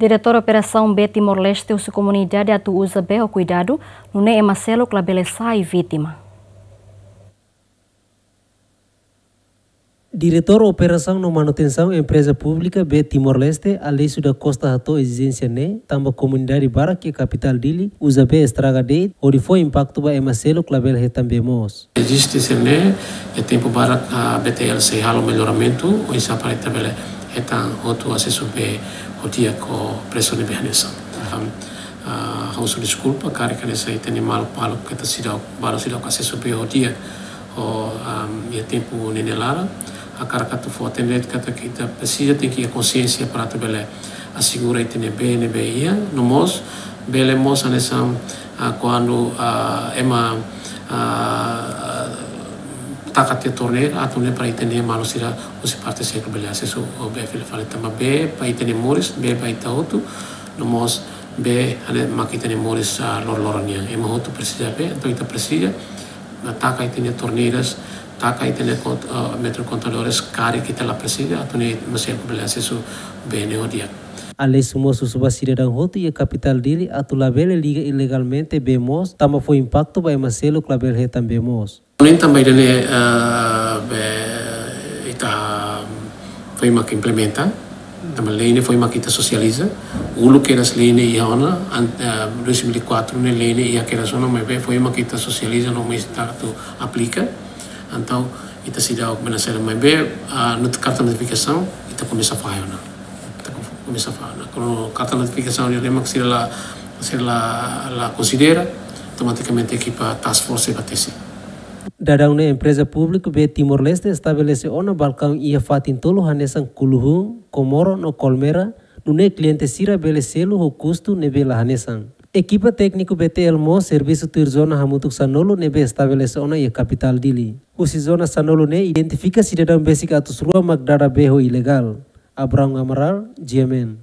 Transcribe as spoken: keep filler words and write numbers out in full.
Diretór Operasaun Bee Timor-Leste husu komunidade atu uza bee ho kuidadu, nune'e ema seluk labele sai vítima. Diretór Operasaun no Manutensaun Empreza Públika Bee Timor-Leste, Aleixo da Costa hato'o ezijénsia ne'e, tanba komunidade barak iha kapitál Dili uza bee estraga de'it, hodi fó impaktu ba ema seluk labele hetan bee moos. Eziste sira-ne'e, iha tempu barak, ah, B T L sei halo melloramentu, oinsá para ita bele hetan hotu asesu bee ho di'ak ho presu ne'ebé hanesan. Ah, ah, ha'u husu deskulpa, karik hanesan ita-nia maluk balu keta seidauk, balu seidauk asesu bee ho di'ak ho, ah, iha tempu neineik laran, hakarak atu fó-hatene de'it katak ita presiza tenke iha konsiénsia para atu bele asegura ita-nia bee ne'ebé iha, no mós, bele mós hanesan, ah, kuandu, ah, ema, ah, taka tiha torneira, atu nune'e para ita-nia maluk sira husi parte seluk bele asesu ho bee fila fali tanba bee ba ita-nia moris, bee ba ita hotu, no mós bee hanesan mak ita-nia moris, ah, loroloron nian. Ema hotu presiza bee, entaun ita presiza, ah, taka ita-nia torneiras, taka ita-nia kont-, ah, metro contadores, karik ita la presiza, atu nune'e ema seluk bele asesu bee ne'e ho di'ak. Aleixo mós husu ba sidadaun hotu iha kapitál Dili atu labele liga ilegalmente bee moos, tanba fó impaktu ba ema seluk labele hetan bee moos. Nune'e tanba ida-ne'e, eh, be, ita foin mak implementa, tanba lei ne'e foin mak ita sosializa. Uluk kedas lei ne'e iha ona, an-, eh, dois mil e quatro ne'e lei ne'e iha kedas ona, maibé foin mak ita sosializa no mós ita atu aplika. Entaun, ita seidauk bele sela, maibé, ah, not-, karta notifikasaun, ita komesa fahe ona. Ita komesa fahe ona. Kuandu karta notifikasaun ne'e mak sira la, sira la, la konsidera, automatikamente ekipa task force sei bá tesi. Daudaun ne'e Empreza Públika Bee Timor-Leste estabelese ona balkaun iha fatin tolu hanesan Kuluhun, Komoro no Kolmera, nune'e kliente sira bele selu ho kustu ne'ebé la hanesan. Ekipa tékniku B T L mós servisu tuir zona hamutuk sanulu ne'ebé estabelese ona iha kapitál Dili. Husi zona sanulu ne'e identifika sidadaun besik atus rua mak dada bee ho ilegál. Abraham Amaral, G M N.